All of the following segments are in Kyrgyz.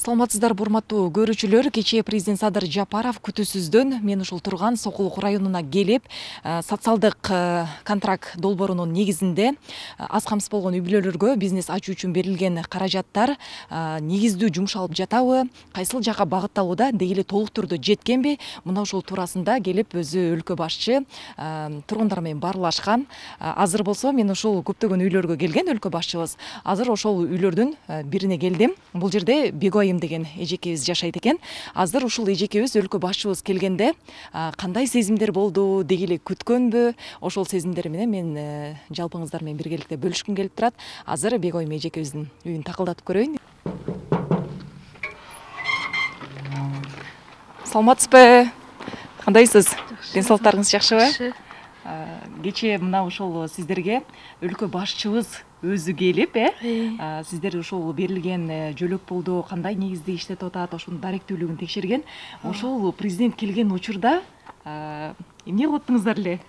Саламатсыздар, урматтуу көрүүчүлөр. Кечээ президент Садыр Жапаров күтүүсүздөн мен ушул турган Сокулук районуна келип, социалдык контракт долбоорунун негизинде аз камсыз болгон үй бүлөлөргө бизнес ачуу үчүн берилген каражаттар негиздүү жумшалып жатабы, кайсыл жака багытталууда, деги эле толук түрдө жеткенби? Мына ушул туурасында келип өзү өлкө башчы тургундар менен баарлашкан. Азыр болсо мен ушул көптөгөн үйлөргө келген өлкө башчыбыз. Азыр ошол үйлөрдүн бирине келдим. Бул жерде Бегойым деген эжекебиз жашайт экен. Азыр ушул эжекебиз өлкө башчыбыз келгенде кандай сезимдер болду, деги эле күткөнбү? Ошол сезимдер менен мен жалпыңыздар менен биргеликте бөлүшкүм келип турат. Азыр Бегойым эжекебиздин үйүн такылдатып көрөйүн. Саламатсызбы? Кандайсыз? Ден соолуктарыңыз жакшыбы? Кечээ мына ошол сиздерге өлкө башчыбыз өзү келип, сиздер ушул берилген жөлөк пулду кандай негизде иштетип атат, ошонун даректүүлүгүн текшерген. Ошол президент келген учурда эмне кылып аттыңыздар эле?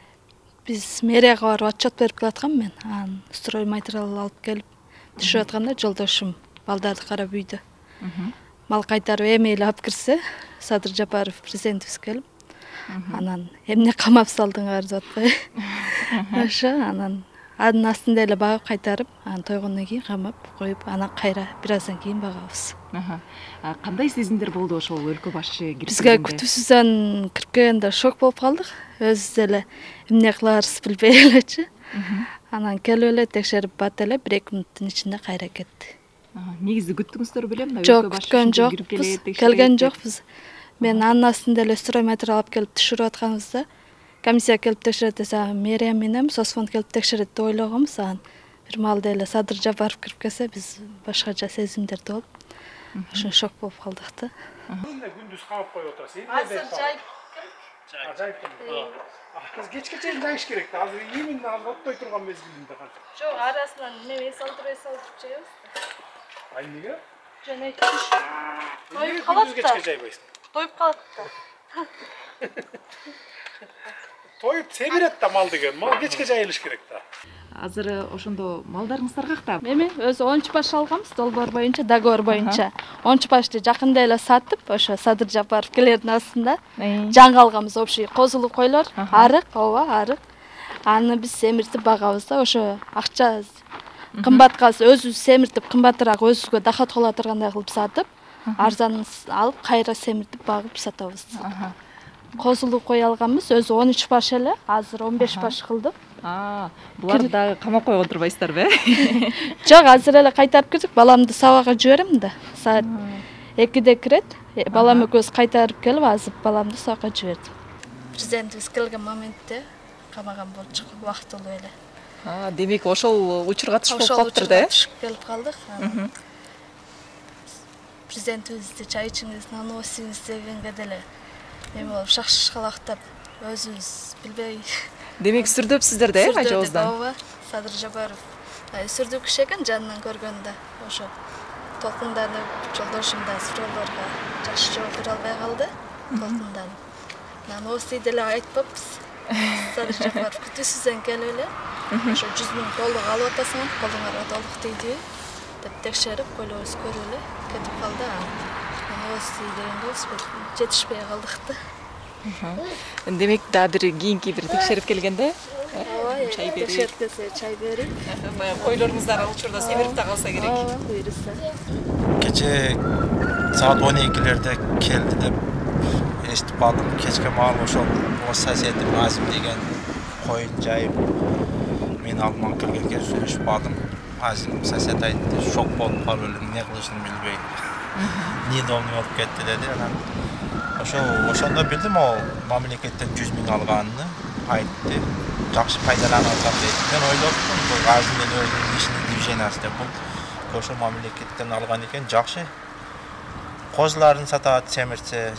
Биз мэрияга барып отчет берип келаткам мен. Анан строй материал алып келип түшүп атканда жолдошум балдарды карап үйдө. Мал кайтарып эми эле алып кирсе, Садыр Жапаров президентибиз келип, анан эмне камап салдыңар деп атпайбы? Ошо анан анын астында эле багып кайтарып, анан тойгондон кийин камап коюп, анан кайра бир аздан кийин багабыз. Кандай сезимдер болду ошол өлкө башчы кирип Бизге күтүүсүздөн кирип келгенде шок болуп калдык. Өзүбүз эле эмне кыларыбызды билбей элечи. Анан келип эле текшерип бат эле 1-2 мүнөттүн ичинде кайра кетти. Негизи күттүңүздөр беле мына өлкө башчы жокпуз, келген жокпуз. Мен анын астында эле строй материал алып келип түшүрүп атканыбызда комиссия келип текшерет десе, мэрия менен соцфонд келип текшерет деп ойлогонбуз. Анан бир маалда эле Садыр Жапаров кирип келсе, биз башкача сезимдерде болуп, ошо шок болуп калдык да. Күндүз камап коюп отурасыз. Азыр жайып Биз кечке чейин жайыш керек да. Азыр иймин оттой турган мезгилинде кантип? жок, арасынан неме салдырып жайбыз. Ай эмнеге? Жана тоюп калат да. Кечке жайбайсың. Тоюп калат да. Тоюп себерет да мал деген. Мал кечке жайылыш керек да. Азыр ошондо малдарыңыздар какта? Эми өзү 10 баш алганбыз, долбоор боюнча, договор боюнча. 10 башты жакында эле сатып, ошо Садыр Жапаров келердин астында жаңы алганбыз, общий козулук койлор, арык, арык. Аны биз семиртип багабыз да, ошо акча кымбатка өзүбүз семиртип, кымбатыраак өзүбүзгө доход кыла тургандай кылып сатып, арзан алып, кайра семиртип багып сатабыз. Козулук кой алганбыз, өзү 13 баш эле, азыр 15 баш кылдык. Буларды дагы камап койгон турбайсыздарбы? Жок, азыр эле кайтарып кирдик. Баламды сабакка жиберем да. Саат 2де кирет. Балам экөөбүз кайтарып келип, азыр баламды сабакка жибердим. Президентибиз келген моментте камаган болчук, убактылуу эле. Демек ошол учурга түшүп калыптыр да? Түшүп келип калдык. Президентибизди чай ичиңиз, нан ооңуз дегенге деле эме болуп шакшалактап, өзүбүз билбей. Демек сүрдөпсүздөр да, ажабыздан? Ооба, Садыр Жапаров сүрдүү киши экен, жанынан көргөндө. Ошо толкунданып, жолдошум да суроолорго жакшы жооп бере албай калды. Толкунданып. Нан ооңуз деле айтпаппыз. Садыр Жапаров күтүүсүздөн келип эле, ошо 100 000 толук алып атасың, колуңарга толук тийди деп текшерип, койлорубуз көрүп эле кетип калды. Ооңуз дегенде жетишпей калдык да. Демек да бир кийинки бир текшерип келгенде чай берип, текшерип келсе чай берип, баягы койлоруңуздар ал учурда семирип да калса керек. Ооба, буйруса. Кече саат 12-лерде келди деп эстип калдым. Кечке маал ошол соседим Азим деген коюн жайып мен алдыма келгенге сүйлөшүп калдым. Азим сосед айтты, шок болуп калып эле эмне кылышын билбей. Недовный болуп кетти деди. Анан ошондо билдим ал мамлекеттен 100 000 алганын айтты. Жакшы пайдаланып атат дейт. Мен ойлоптум, бул Азимдин өзүнүн ишинин движениясы деп. Бул ошо мамлекеттен алган экен, жакшы. Козуларын сатат, семирсе,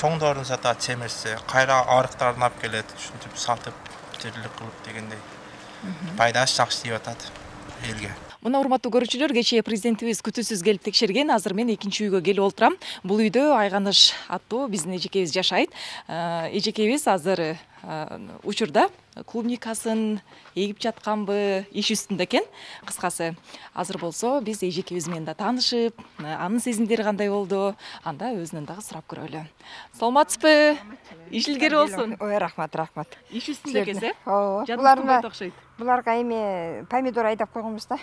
чоңдорун сатат, семирсе, кайра арыктарын алып келет, ушинтип сатып, тирилик кылып дегендей. Пайдасы жакшы тийип атат элге. Мына урматтуу көрүүчүлөр, кечээ президентибиз күтүүсүз келип текшерген. Азыр мен экинчи үйгө келип олтурам. Бул үйдө Айганыш аттуу биздин эжекебиз жашайт. Эжекебиз азыр учурда клубникасын эгип жатканбы, иш үстүндө экен. Кыскасы, азыр болсо биз эжекебиз менен да таанышып, анын сезимдери кандай болду, анда өзүнөн дагы сурап көрөлү. Саламатсызбы? Иш илгери болсун. Ой, рахмат. Иш үстүндө экенсиз, Ооба. Жадыңыз окшойт. Буларга эми помидор айдап койгонбуз да.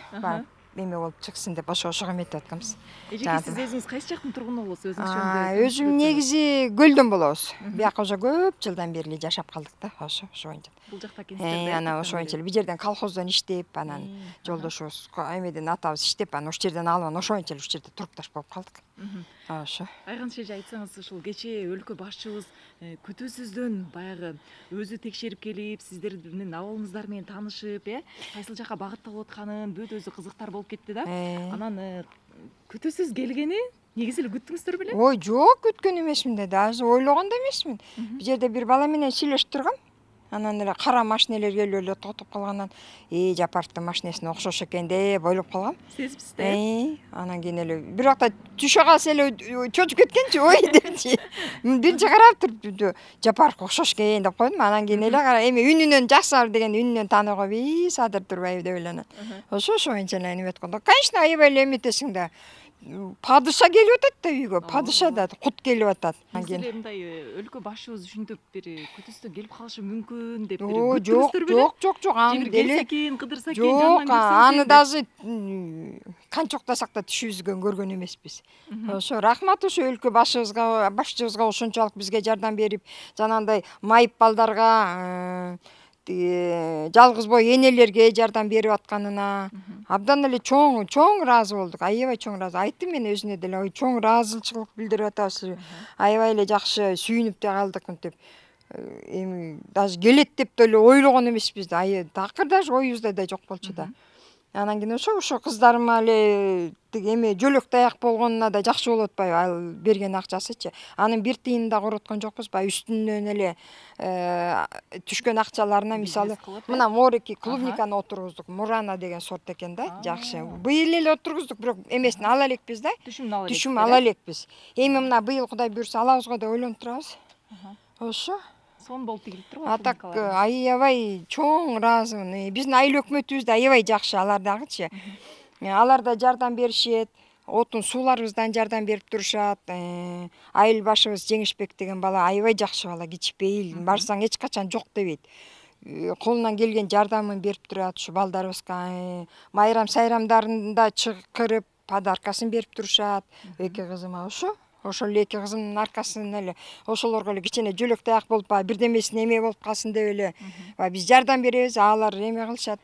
Эме болуп чыксын деп ошого эметип атканбыз. Эжеке, сиз өзүңүз кайсы жактын тургуну болосуз? Өзүңүз Өзүм негизи Көлдөн болобуз. Бияка уже көп жылдан бери эле жашап калдык да. Ошо боюнча. Бул жакта экенсиздер да? Ана ошо боюнча бир жерден колхоздон иштеп, анан жолдошубуз эмеден атабыз иштеп, анан ошол жерден алып, ошо боюнча ушул жерде турукташ болуп калдык. Ошо. Айган эже, айтсаңыз, ушул кечээ өлкө башчыбыз күтүүсүздөн баягы өзү текшерип келип, сиздер менен абалыңыздар менен таанышып, кайсыл жакка багытталып атканын бүт өзү кызыктар болуп кетти да. Анан күтүүсүз келгени негизи эле күттүңүздөр беле? Ой, жок, күткөн эмесмин да, даже ойлогон да эмесмин. Бул жерде бир бала менен сүйлөшүп тургам. Анан эле кара машинелер келип эле токтоп калгандан, Жапаровдун машинесине окшош экен деп ойлоп калгам. Сезипсиз да? Анан кийин эле бир убакта түшө калса эле чочуп кеткенчи, ой депчи. Биринчи карап туруп Жапаровго окшош экен деп койдум. Анан кийин эле эми үнүнөн жакшы деген үнүнөн тааный коюп, Садыр Турбаев деп эле анан. Ошо боюнча эле эметип койдум. Конечно, аябай эле эметесиң да. Падыша келип атат да үйгө, падыша да кут келип атат. Анан мындай өлкө башчыбыз ушинтип бир күтүүсүздөн келип калышы мүмкүн деп жок, аны деле кыдырса экен, жок, аны даже канча уктасак да түшүбүзгө көргөн эмеспиз. Ошо рахмат ошо өлкө башчыбызга ошончолук бизге жардам берип, жанагындай майып балдарга, жалгыз бой энелерге жардам берип атканына абдан эле чоң ыраазы болдук. Аябай чоң ыраазы. Айттым мен өзүнө деле, ой, чоң ыраазычылык билдирип атабыз. Аябай эле жакшы сүйүнүп да калдык мынтип. Эми даже келет деп деле ойлогон эмеспиз да. Такыр даже оюбузда да жок болчу да. Анан кийин ошо кыздарыма эле эме жөлөк таяк болгонуна да жакшы болуп атпайбы, ал берген акчасычы. Анын бир тыйынын да короткон жокпуз, баягы үстүнөн эле түшкөн акчаларына мисалы мына морики клубниканы отургуздук. Мурана деген сорт экен да, жакшы. Быйыл эле отургуздук, бирок эмесин ала элекпиз да. Түшүм ала элекпиз. Эми мына быйыл Кудай буйрса алабызго деп ойлонуп турабыз. Ошо сон болуп тигилип турбу. Атак аябай чоң ыраазымын. Биздин айыл өкмөтүбүз да аябай жакшы, алар дагычы. Алар да жардам беришет. Отун сууларыбыздан жардам берип турушат. Айыл башыбыз Жеңишбек деген бала аябай жакшы бала, кичпейил. Барсаң эч качан жок дебейт. Колунан келген жардамын берип турат ушу балдарыбызга. Майрам сайрамдарында чакырып, подаркасын берип турушат. Эки кызыма ошол эле эки кызымдын аркасынан эле ошолорго эле кичине жөлөк таяк болуп, бирдемесине эме болуп калсын деп эле биз жардам беребиз, алар эме кылышат,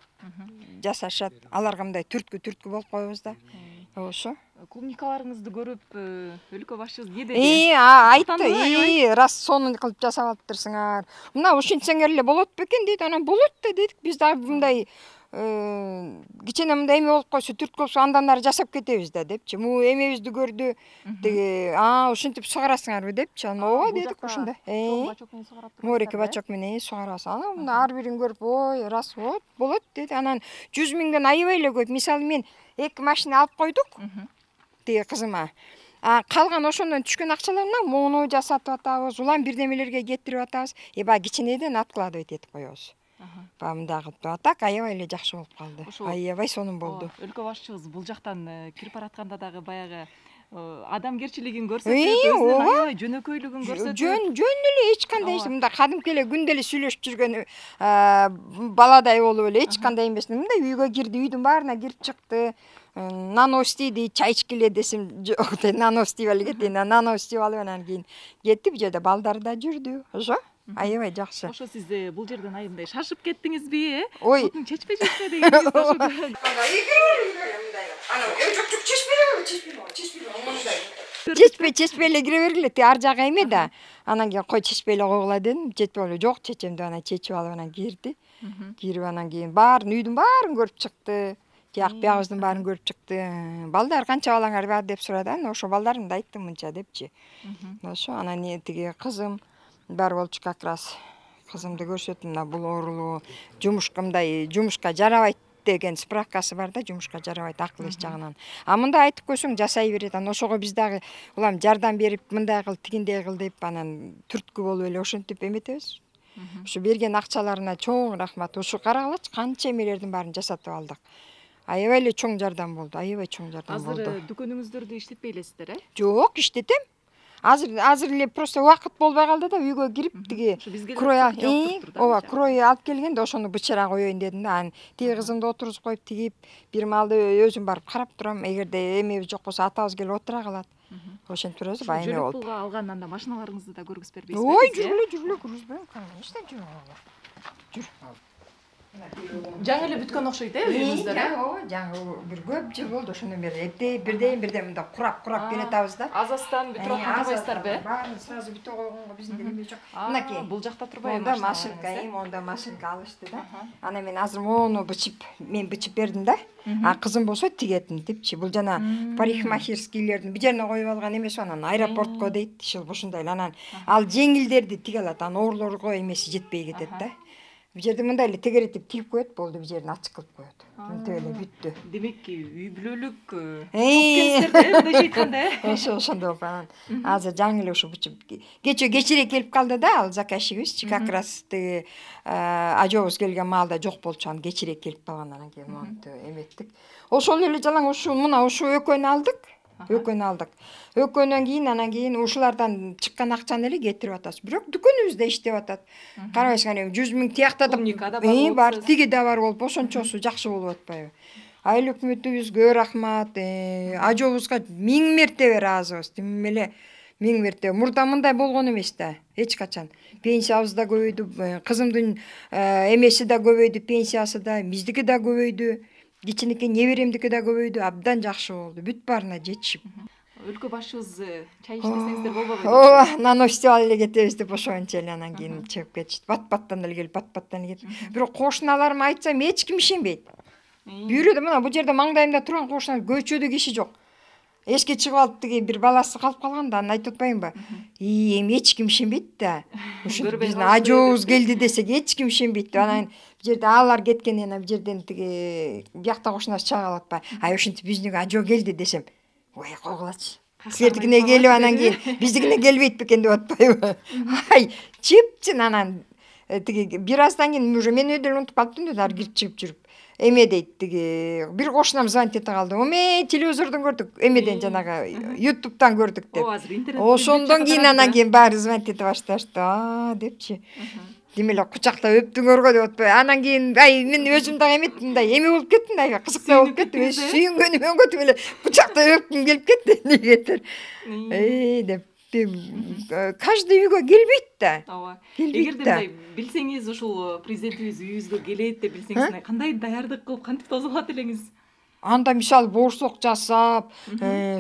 жасашат. Аларга мындай түрткү болуп коебуз да. Ошо. Клубникаларыңызды көрүп, өлкө башчыбыз эмне деди? Айтты, раз сонун кылып жасап атыптырсыңар. Мына ушинтсеңер эле болот бекен дейт. Анан болот да дедик. Биз дагы мындай кичине мындай эме болуп койсо, түрткү болсо андан ары жасап кетебиз да депчи. Му эмебизди көрдү. Деги, ушинтип сугарасыңарбы депчи. Анан ооба дедик ошондой. Морики бачок менен сугарабыз. Анан мына ар бирин көрүп, ой, раз болот деди. Анан 100 миңден аябай эле көп. Мисалы мен 2 машина алып койдук. Тиги кызыма. Калган ошондон түшкөн акчаларынан муну жасатып атабыз, улам бирдемелерге кетирип атабыз. Баягы кичинеден откладывать этип коебуз. Мындай кылып атак аябай эле жакшы болуп калды. Аябай сонун болду. Өлкө башчыбыз бул жактан кирип баратканда дагы баягы адамгерчилигин көрсөтүп, өзүнүн аябай жөнөкөйлүгүн көрсөтүп. Жөн эле эч кандай мындай кадимки эле күндө эле сүйлөшүп жүргөн баладай болуп эле эч кандай эмес. Мындай үйгө кирди, үйдүн баарына кирип чыкты. Нано истейди, чай ичкиле десем жок, нано истеп эле кетейин. Нано истеп алып анан кийин кетти, бул жерде балдары да жүрдү. Ошо аябай жакшы. Ошо сиз бул жерден аябай шашып кеттиңизби, Ой, отун чечпе дегенсиз ошо. Чечпей эле кире бергиле, ар жагы эме да. Анан кийин кой чечпей эле койгула дедим. Чечпей эле жок, чечем деп анан чечип алып анан кирди. Кирип анан кийин баарын, үйдүн баарын көрүп чыкты. Тияк биягыбыздын баарын көрүп чыкты. Балдар канча балаңар бар деп сурады. Анан ошо балдарымды айттым мынча депчи. Ошо анан тиги кызым бар болчу, как раз кызымды көрсөттүм. Мына бул оорулуу жумушка жарабайт деген справкасы бар да, жумушка жарабайт акыл эс жагынан. Мындай айтып койсоң жасай берет. Анан ошого биз дагы улам жардам берип, мындай кыл, тигиндей кыл деп анан түрткү болуп эле ошентип эметебиз. Ушу берген акчаларына чоң рахмат. Ушу карагылачы канча эмелердин баарын жасатып алдык. Аябай эле чоң жардам болду, аябай чоң жардам болду. Азыр дүкөнүңүздөрдү иштетпей элесиздер, Жок, иштетем. Азыр эле просто убакыт болбой калды да, үйгө кирип тиги крой алып келгенде ошону бычыра коеюн дедим да. Анан тиги кызымды отургузуп коюп тигип, бир маалда өзүм барып карап турам. Эгерде эмебиз жок болсо атабыз келип отура калат. Ошентип турабыз, баягы эме болуп. Жөлөк пулга алган анда машиналарыңызды да көргүзүп бербейсизби? Ой, жүргүлө киргизбейм. Конечно, жүр. Жаңы эле бүткөн окшойт, үйүңүздөр? Ооба, жаңы бир көп жыл болду. Ошондон бери бирден мындай курап келатабыз да. Азастан бүтүрөп кантабайсыздарбы? Баарын сразу бүтө койгонго биздин эме жок. Мынакей. Бул жакта турбайбы? Монда машинка алышты да. Анан мен азыр мону мен бычып бердим да. А кызым болсо тигетин депчи. Бул жана парикмахерскийлердин бир жерине коюп алган эмеси, анан аэропортко дейт. Ушундай эле. Анан ал жеңилдерди тиге алат. Анан оорлорго эмеси жетпей кетет да. Бир жерде мындай эле тегеретип тигип коет, болду, бир жерин ачык кылып коет. Мынтип эле бүттү. Демек, үй бүлөлүк топ келиңиздер айтканда. Ошондой болуп анан азыр жаңы эле ушу кечирээк келип калды да, ал заказчигибиз. Как раз тиги ажообуз келген маалда жок болчу, анан кечирээк келип калган, анан кийин монтип эметтик. Ошол эле жалаң ушу экөөнү алдык. Экөөнөн кийин анан кийин ушулардан чыккан акчаны эле кетирип атабыз. Бирок дүкөнүбүздө иштеп атат. Карабайсыңар, 100 000 тиякта да бар, тиги да бар болуп, ошончосу жакшы болуп атпайбы? Айыл өкмөтүбүзгө рахмат, ажообузга 1000 мертебе ыраазыбыз. Тим эле 1000 мертебе. Мурда мындай болгон эмес да, эч качан. Пенсиябыз да көбөйдү, кызымдын эмеси да көбөйдү, пенсиясы да, биздики да көбөйдү. Кичинекей неберемдики да көбөйдү, абдан жакшы болду. Бүт баарына жетишип. Өлкө башчыбыз чай ичпесеңиздер болбойбу? Ооба, нано фестиваль эле кетебиз деп ошогончо эле анан кийин чыгып кетишти. Бат-баттан эле келип, бат-баттан эле кетип. Бирок кошуналарыма айтсам эч ким ишенбейт. Бирөө да мына бул жерде маңдайымда турган кошуналар көчөдө киши жок. Эшикке чыгып алып тиги бир баласы калып калган да, анан айтып атпаймынбы? Эми эч ким ишенбейт да. Ушу биздин ажообуз келди десек эч ким ишенбейт. Анан бир жерде алар кеткенден кийин бир жерден тиги биякта кошунасы чыга калып атпайбы? Ай, ошентип биздин ажоо келди десем, ой, койгулачы. Силердикине келип анан кийин биздикине келбейт бекен деп атпайбы? Ай, чепчин анан тиги бир аздан кийин уже мен деле унутуп калыптым да, ар кирип чыгып жүрүп. Эме дейт тиги бир кошунам звонить эте калды. Оме, телевизордон көрдүк, эмеден жанагы YouTube'дан көрдүк деп. Ошондон кийин анан кийин баары звонить эте башташты. Депчи. Демеле кучактап өптүңөргө деп атпайбы? Анан кийин ай мен өзүм дагы эметтим, мындай эме болуп кеттим да, кызыктуу болуп кетти. Сүйүнгөнүм өңгөтүп эле кучактап өпкүм келип кетти. Негетер. Деп каждый үйгө келбейт да. Ооба. Эгерде мындай билсеңиз, ушул президентибиз үйүбүзгө келет деп билсеңиз, кандай даярдык кылып, кантип тосулат элеңиз? Анда мисалы боорсок жасап,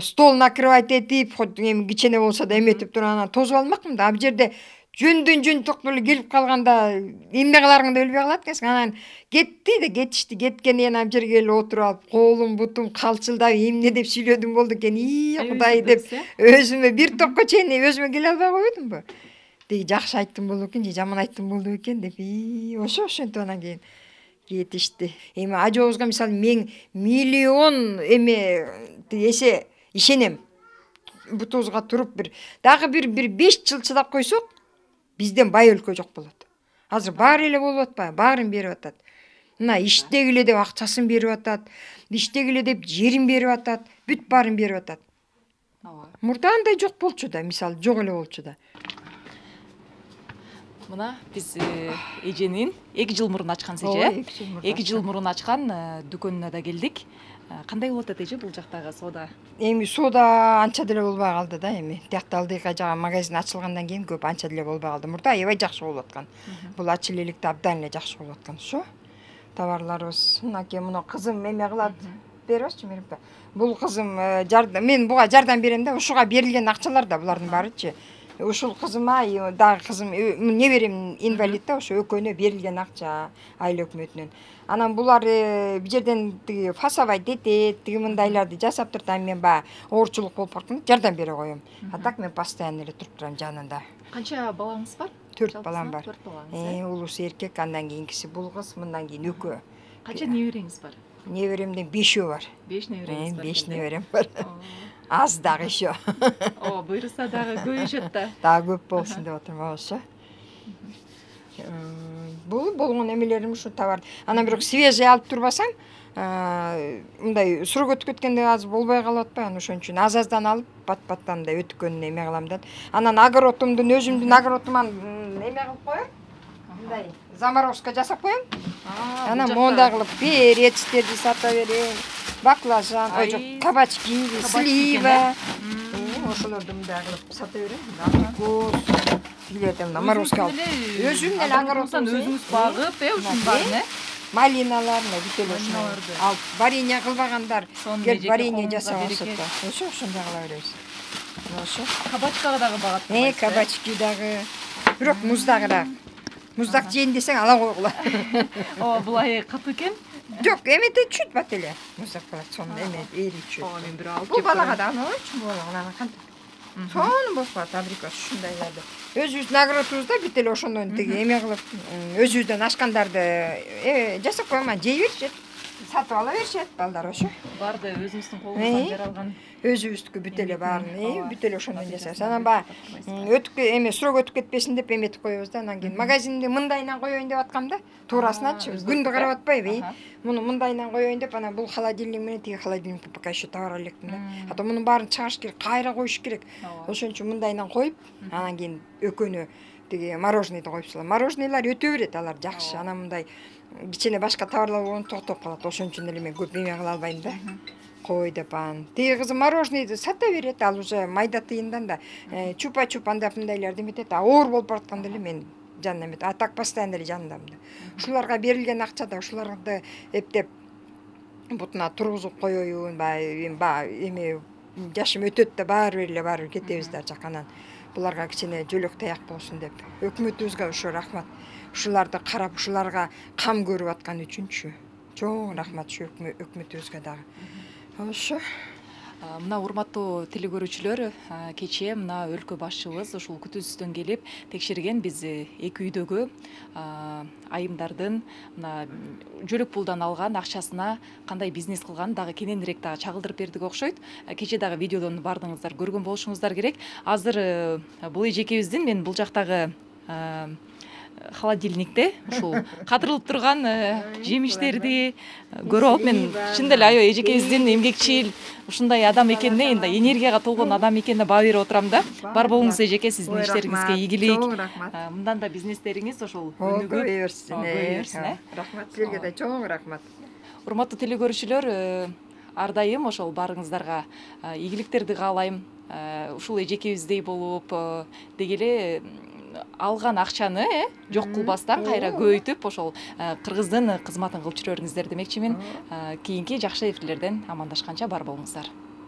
стол накрывать этип, хоть эми кичене болсо да эметип туруп анан тосуп алмакмын да. Бул жерде жөн токтуу эле келип калганда эмне кыларыңды билбей калат экенсиң. Анан кетишти. Кеткенден кийин жерге келип отуруп алып, колум бутум калчылдап эмне деп сүйлөдүм болду экен. Кудай деп өзүмө бир топко чейин өзүмө келе албай койдумбу? Деги жакшы айттым болду экен же жаман айттым болду экен деп ошентип анан кийин кетишти. Эми ажообузга мисалы мен миллион эсе ишенем. Бутубузга туруп дагы бир 5 жыл чыдап койсок, бизден бай өлкө жок болот. Азыр баары эле болуп атпайбы? Баарын берип атат. Мына иштегиле деп акчасын берип атат, иштегиле деп жерин берип атат, бүт баарын берип атат. Мурда андай жок болчу да, мисалы жок эле болчу да. Мына биз эженин 2 жыл мурун ачкан эже. 2 жыл мурун ачкан дүкөнүнө да келдик. Кандай болуп атат эже бул жактагы соода? Эми соода анча деле болбой калды да эми. Тиякта алдыйка жагы магазин ачылгандан кийин көп анча деле болбой калды. Мурда аябай жакшы болуп аткан. Бул ачыл эликте абдан эле жакшы болуп аткан. Ошо товарларыбыз. Мынакей муну кызым эме кылат. Беребичи Мерипе? Бул кызым мен буга жардам берем да, ушуга берилген акчалар да булардын баарычы. Ушул кызыма дагы кызым неберем инвалид да, ошо экөөнө берилген акча айыл өкмөтүнөн. Анан булар бир жерден тиги фасовать этет, тиги мындайларды жасап турат, анан мен баягы оорчулук болуп барканда жардам бере коем. А так мен постоянно эле туруп турам жанында. Канча балаңыз бар? 4 балам бар. 4 балаңыз. Улуусу эркек, андан кийинкиси бул кыз, мындан кийин экөө. Канча небереңиз бар? Неберемден 5 бар. 5 небереңиз бар. 5 неберем бар. Аз дагы еще. Буйруса дагы көбөйүшөт да. Дагы көп болсун деп атырмын, ошо. бул болгон эмелерим ушу товар. Анан бирок свежий алып турбасаң, мындай сурок өтүп кеткенде азыр болбой калып атпайбы? Анан ошон үчүн аз-аздан алып, бат-баттан мындай өтүккөнүн эме кылам да. Анан огородумдун өзүмдүн огородуман эме кылып коем. Мындай заморозка жасап коем. Анан мондай кылып перечтерди сата берем. Баклажан, кабачки, слива. Ошолорду мындай кылып сата берем. Абрикос, билете мына морозко алып. Өзүм эле огородумдан өзүңүз багып, ушунун баарын, малиналар, бүтө ошону алып, варенье кылбагандар, келип варенье жасап алышат. Ошондой кыла беребиз. Ошо. Кабачкага дагы багат. Кабачки дагы. Бирок муздагыраак. Муздак жейин десең ала койгула. Булай катуу экен. Жок, эмете чүт бат эле. Муздак болот, сонун эме эричү. Мен бир алып. Бул балага да анычы балага кантип. Сонун болуп калат абрикос ушундайларды. Өзүбүздүн огородубузда бүт эле ошондон тиги эме кылып, өзүбүздөн ашкандарды жасап коем, жей беришет. Сатып ала беришет балдар ошо. Барды өзүңүздүн колуңуздан жаралган. Өзүбүздүкү бүт эле баарын, бүт эле ошондон жасайбыз. Анан баягы сурок өтүп кетпесин деп эметип коебуз да. Анан кийин магазинди мындайынан коеюн деп аткам да. Туурасыначы, күндү карап атпайбы, муну мындайынан коеюн деп, анан бул холодильник менен тиги холодильникти пока еще табара электим да. А то мунун баарын чыгарыш керек, кайра коюш керек. Ошон үчүн мындайынан коюп, анан кийин экөөнү тиги мороженыйды коюп салам. Мороженыйлар өтө берет, алар жакшы. Анан мындай кичине башка товарлар болгондо токтоп калат. Ошон үчүн эле мен көп эме кыла албайм да. Кой деп анан. Тиги кызым мороженыйды сата берет, ал уже майда тыйындан да. Чупа-чуп андап мындайларды эметет. Оор болуп баратканда эле мен жанына эмет. А так постоянно эле жанындамын да. Ушуларга берилген акчада ушуларды эптеп бутуна тургузуп коеюн, эме жашым өтөт да баары эле кетебиз да жаканан. Буларга кичине жөлөк таяк болсун деп. Өкмөтүбүзгө ошо рахмат. Ушуларды карап, ушуларга кам көрүп аткан үчүнчү. Чоң рахмат ушу өкмөтүбүзгө дагы. Ошо. Мына урматтуу телекөрүүчүлөр, кечээ мына өлкө башчыбыз ушул күтүүсүздөн келип текшерген биз эки үйдөгү айымдардын мына жөлөк пулдан алган акчасына кандай бизнес кылганын дагы кененирээк дагы чагылдырып бердик окшойт. Кечээ дагы видеодон баардыгыңыздар көргөн болушуңуздар керек. Азыр бул эжекебиздин мен бул жактагы холодильникте ушул катырылып турган жемиштерди көрүп алып, мен чын эле аябай эжекебиздин эмгекчил ушундай адам экенине, энди энергияга толгон адам экенине баа берип отурам да. Бар болуңуз эжеке, сиздин иштериңизге ийгилик. Чоң рахмат. Мындан да бизнестериңиз ошол өнүгүп берсин. Рахмат силерге да чоң рахмат. Урматтуу телекөрүүчүлөр, ар дайым ошол баарыңыздарга ийгиликтерди каалайм. Ушул эжекебиздей болуп, деги эле алган акчаны жок кылбастан кайра көбөйтүп ошол кыргыздын кызматын кылып жүрөңүздөр демекчимин. Кийинки жакшы эфирлерден амандашканча бар болуңуздар.